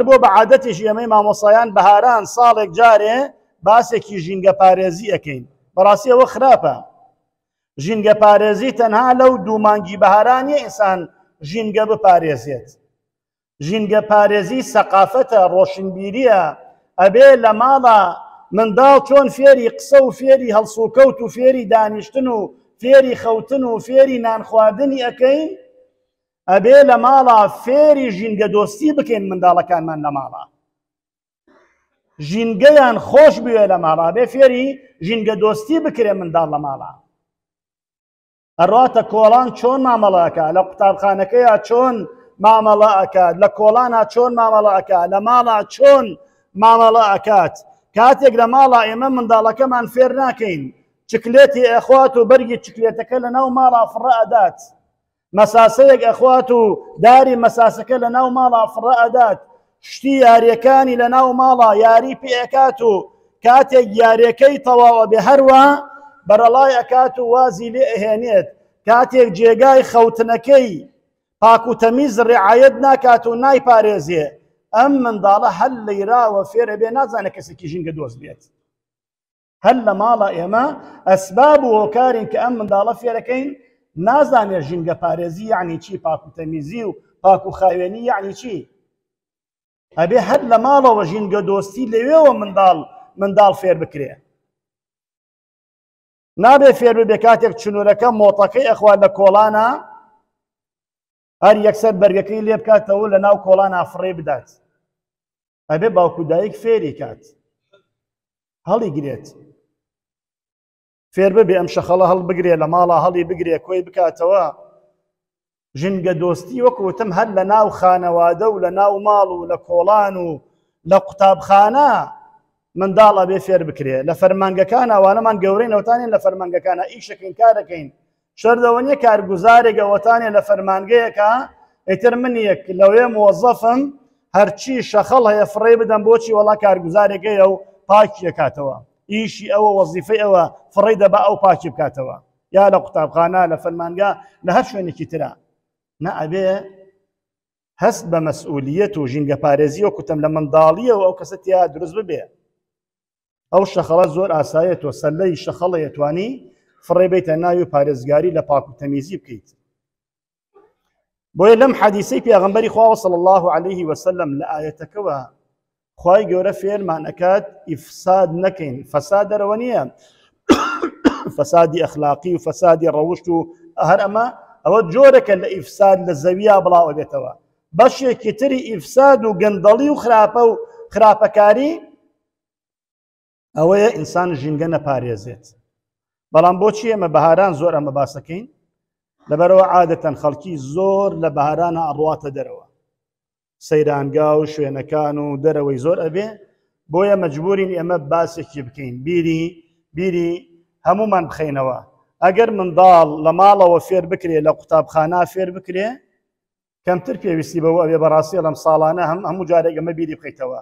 بۆ بە عادەتێکی ئێمەی مامۆسایان بەهاران ساڵێک جارێ باسێکی ژینگە پارێزی ئەەکەین. بەڕاستی ئەوە خراپە. ژینگە پارێزی تەنها لەو دوو مانگی بەهارانی ئینسان ژینگە بپارێزێت. ژینگە پارێزی سەقافەتە، ڕۆشنبیریە، ئەبێ لە ماڵا منداڵ چۆن فێری قسە و فێری هەڵسوکەوت و فێری دانیشتن و فێری خەوتن و فێری نان خواردنی ئەکەین، ئەبێ لە ماڵا فێری ژینگە دۆستی بکەین منداڵەکانمان لە ماڵا ژینگەیان خۆش بوێ لە ماڵا بێ فێری ژینگە دۆستی بکرێ منداڵ لە ماڵا ئەڕاتە کۆڵان چۆن مامەڵە ئەکا، لە قوتابخانەکەیا چۆن مامەڵە ئەکات، لە کۆڵانا چۆن مامەڵە ئەکا، لە ماڵا چۆن مامەڵە ئەکات. کاتێک لە ماڵا ئێمە منداڵەکەمان فێر ناکەین چکلێتی ئەخوات و بەرگی چکلێتەکە لە ناو ماڵا فڕە ئەدات، مەساسەیەک ئەخوات و داری مەساسەکە لە ناو ماڵا فڕە ئەدات، شتی یاریەکانی لە ناو ماڵا یاری پێ ئەکات و کاتێک یاریەکەی تەواو ئەبێ هەروا بەرەڵای ئەکات و وازی لێ ئەهێنێت. کاتێک جێگای خەوتنەکەی پاک و تەمیز ڕعایەت ناکات و نایپارێزێ، ئەم منداڵە هەر لەیراوە فێر ئەبێ نازانێ کەسێکی ژینگە دۆست بێت. هەر لە ماڵە ئێمە ئەسباب و هۆکارین کە ئەم منداڵە فێرەکەین نازانێت ژینگە پارێزی یعنی چی، پاک و تەمیزی و پاک و خاوێنی یعنی چی. ئەبێ هەر لە ماڵەوە ژینگە دۆستی لەوێوە منداڵ فێر بکرێ. نابێ فێر ببێ کاتێک چنورەکە مۆتەکەی ئەخوا لە کۆڵانە هەر یەکسەر بەرگەکەی لێ بکاتەوە لە ناو کۆڵانە فڕێ بدات. ئەبێ باوک و دایک فێری کات، هەڵی گرێت، فێر ببێ ئەم شەخەڵە هەڵ بگرێ لە ماڵا هەڵی بگرێ کۆی بکاتەوە. ژینگە دۆستی وەکو وتم هەر لە ناو خانەوادە و لە ناو ماڵ و لە کۆڵان و لە قوتابخانە منداڵ ئەبێ فێر بکرێ. لە فەرمانگەکان ئەوانەمان گەورەی نەوتانین لە فەرمانگەکانە ئیشەکەین کارەکەین، شەردەوە نییە کارگوزارێک ئەوەتانێ لە فەرمانگەیەکە ئیتر من یەک لەوێ مۆزەفم هەرچی شەخەڵ هەیە فڕێ بدەم، بۆچی وەڵا کارگوزارێک هەیە و پاکی ئەکاتەوە، ئیشی ئەوە وەزیفەی ئەوە فڕێی دەبا ئەو پاکی بکاتەوە، یا لە قوتابخانە لە فەرمانگە لە هەر شوێنێکی ترە. نا ئەبێ هەست بە مەسئولیەت و ژینگە پارێزی وەکو تەم لە منداڵیەوە ئەو کەسە تیا دروست ببێ. ئەو شەخەڵە زۆر ئاسایە، تۆ سەلەی شەخەڵەیە توانی فڕێ بیتە ناوی و پارێزگاری لە پاک و تەمیزی بکەیت. بۆیە لەم حەدیسەی پێغەمبەری خوا صلی الله علیه وسلم لە ئایەتەکەوە خوای گەورە فێرمان ئەکات ئیفساد نەکەین. فەساد دەرەوە نییە، فەسادی ئەخلاقی و فەسادی ڕەوشت و هەر ئەمە ئەوە جۆرەکە لە ئیفساد لە زەویا بڵاو ئەبێتەوە. بەشێکی تری ئیفساد و گەندەڵی و خراپە و خراپەکاری ئەوەیە ئینسان ژینگە نەپارێزێت. بەڵام بۆچی ئێمە بەهاران زۆر ئەمە باسەکەین؟ لەبەرەوە عادەتەن خەڵکی زۆر لە بەهارانە ئەڕواتە دەرەوە، سەیرانگا و شوێنەکان و دەرەوەی زۆر ئەبێ، بۆیە مەجبورین ئێمە باسێکی بکەین، بیری هەمومان بخەینەوە. ئەگەر منداڵ لە ماڵەوە فێر بکرێ، لە قوتابخانە فێر بکرێ، کەمتر پێویستی بەوە ئەبێ. بەڕاستی لەم ساڵانە هەموو جارێک ئەمە بیری بخەیتەوە.